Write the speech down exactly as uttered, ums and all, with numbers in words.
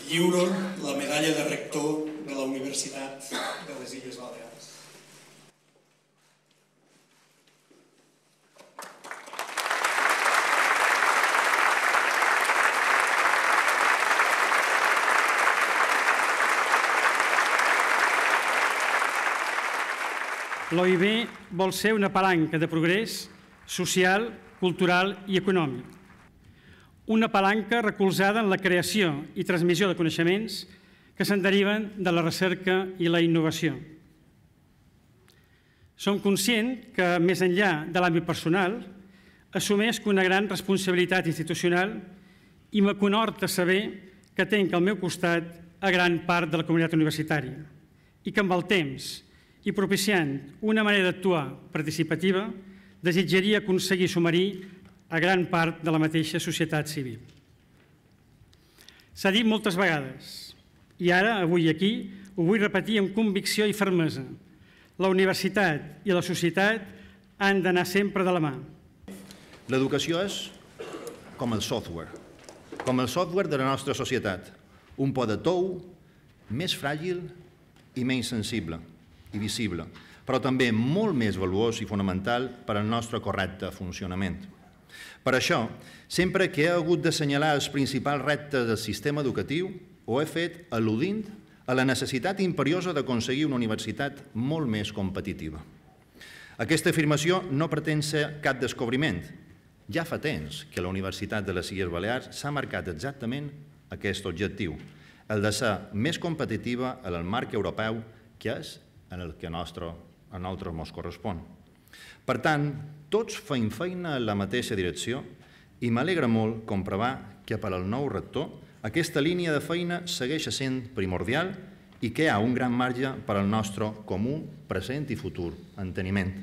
lliuro la medalla de rector de la Universitat de les Illes Balears. L'O I B vol ser una palanca de progrés social, cultural i econòmic. Una palanca recolzada en la creació i transmissió de coneixements que se'n deriven de la recerca i la innovació. Som conscients que, més enllà de l'àmbit personal, assumeix una gran responsabilitat institucional i m'aconhorta saber que tenc al meu costat a gran part de la comunitat universitària i que amb el temps i propiciant una manera d'actuar participativa, desitjaria aconseguir sumar-hi a gran part de la mateixa societat civil. S'ha dit moltes vegades, i ara, avui aquí, ho vull repetir amb convicció i fermesa. La universitat i la societat han d'anar sempre de la mà. L'educació és com el software, com el software de la nostra societat, un po de tou més fràgil i menys sensible i visible, però també molt més valuós i fonamental per al nostre correcte funcionament. Per això, sempre que he hagut d'assenyalar els principals reptes del sistema educatiu, ho he fet al·ludint a la necessitat imperiosa d'aconseguir una universitat molt més competitiva. Aquesta afirmació no pretén ser cap descobriment. Ja fa temps que la Universitat de les Illes Balears s'ha marcat exactament aquest objectiu, el de ser més competitiva en el marc europeu, que és en el que a nosaltres ens correspon. Per tant, tots feim feina en la mateixa direcció i m'alegra molt comprovar que per al nou rector aquesta línia de feina segueix sent primordial i que hi ha un gran marge per al nostre comú present i futur enteniment.